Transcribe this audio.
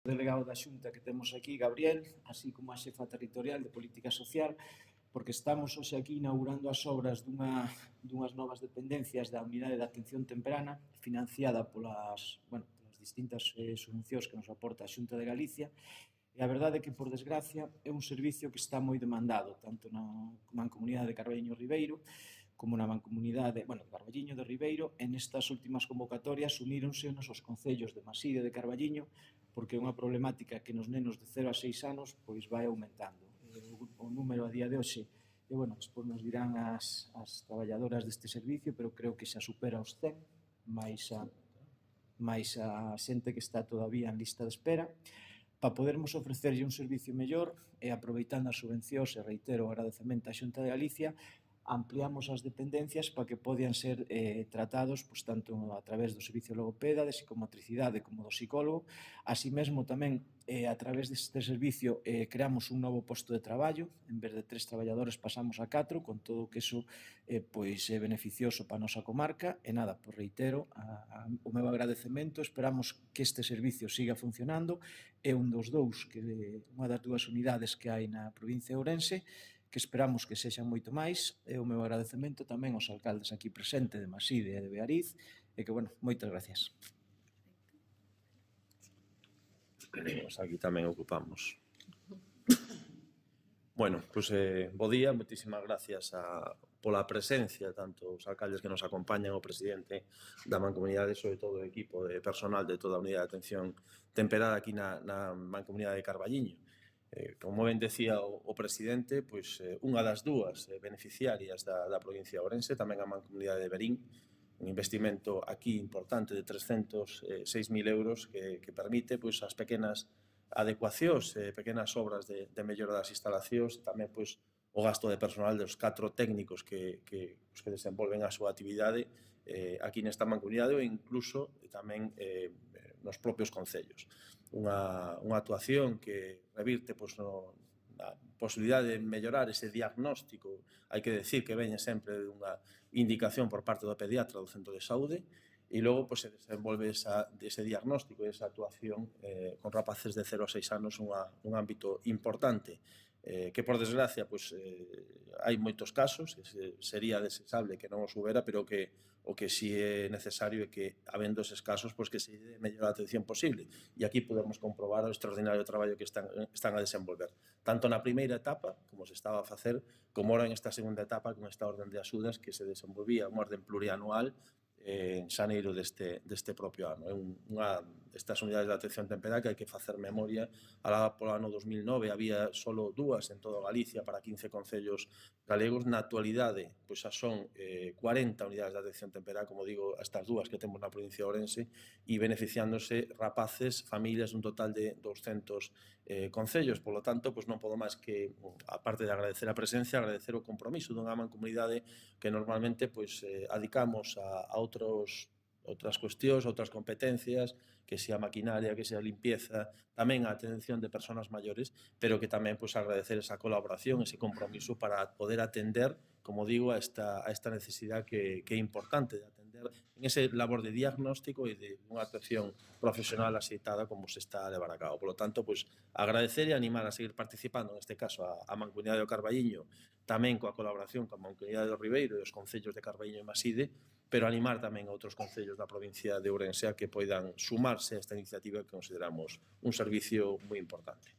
delegado da Xunta que temos aquí, Gabriel, así como a xefa territorial de Política Social, porque estamos hoxe aquí inaugurando as obras dunhas novas dependencias da Unidade de Atención Temprana, financiada polas distintas subvencións que nos aporta a Xunta de Galicia. E a verdade é que, por desgracia, é un servicio que está moi demandado, tanto na Mancomunidade de Carballiño Ribeiro, como na Mancomunidade de Carballiño de Ribeiro. En estas últimas convocatorias uníronse os concellos de Maside e de Carballiño, porque é unha problemática que nos nenos de 0 a 6 anos pois vai aumentando. O número a día de hoxe, despois nos dirán as traballadoras deste servicio, pero creo que xa supera os 100, máis a xente que está todavía en lista de espera. Para podermos ofrecerlle un servicio mellor e aproveitando as subvencións, e reitero o agradecemento á Xunta de Galicia, ampliamos as dependencias para que podan ser tratados tanto a través do servicio logopeda, de psicomotricidade como do psicólogo. Así mesmo tamén a través deste servicio creamos un novo posto de traballo, en vez de 3 traballadores pasamos a 4, con todo que iso é beneficioso para a nosa comarca. E nada, reitero o meu agradecemento, esperamos que este servicio siga funcionando. É unha das dúas unidades que hai na provincia de Ourense, que esperamos que sexan moito máis, e o meu agradecemento tamén aos alcaldes aquí presentes de Maside e de Beariz, e que, moitas gracias. Aquí tamén ocupamos. Bo día, moitísimas gracias pola presencia, tanto os alcaldes que nos acompañan, o presidente da Mancomunidade, sobre todo o equipo de personal de toda a Unidade de Atención Temperada aquí na Mancomunidade de Carballiño. Como ben decía o presidente, unha das dúas beneficiarias da provincia de Ourense, tamén a Mancomunidade de Verín, un investimento aquí importante de 306.000 euros que permite as pequenas adecuacións, pequenas obras de mellora das instalacións, e tamén o gasto de personal dos 4 técnicos que desenvolven a súa actividade aquí nesta mancomunidade ou incluso tamén nos propios concellos. Unha actuación que revirte na posibilidade de mellorar ese diagnóstico. Hai que decir que veñe sempre dunha indicación por parte do pediatra do centro de saúde, e logo se desenvolve ese diagnóstico e esa actuación con rapaces de 0 a 6 anos, un ámbito importante que, por desgracia, hai moitos casos, sería desexable que non os houbera, pero o que si é necesario é que, habendo eses casos, que se dé a mellor atención posible. E aquí podemos comprobar o extraordinario traballo que están a desenvolver, tanto na primeira etapa, como se estaba a facer, como ahora en esta segunda etapa, con esta orden de axudas que se desenvolvía, unha orden plurianual, en xaneiro deste propio ano. É unha destas unidades de atención temperada que hai que facer memoria. Alá polo ano 2009 había só 2 en toda Galicia para 15 concellos galegos. Na actualidade, xa son 40 unidades de atención temperada, como digo, estas 2 que temos na provincia de Ourense, e beneficiándose rapaces, familias, un total de 200 concellos. Por lo tanto, non podo máis que, aparte de agradecer a presencia, agradecer o compromiso dunha mancomunidade que normalmente adicamos a outras cuestións, outras competencias, que sea maquinaria, que sea limpieza, tamén a atención de persoas maiores, pero que tamén agradecer esa colaboración, ese compromiso para poder atender, como digo, a esta necesidade que é importante de atender en ese labor de diagnóstico e de unha atención profesional axeitada como se está a levar a cabo. Por lo tanto, agradecer e animar a seguir participando, neste caso, a Mancomunidade do Carballiño, tamén coa colaboración coa Mancomunidade do Ribeiro e os concellos de Carballiño e Maside, pero animar tamén a outros concellos da provincia de Ourense a que poidan sumarse a esta iniciativa que consideramos un servicio moi importante.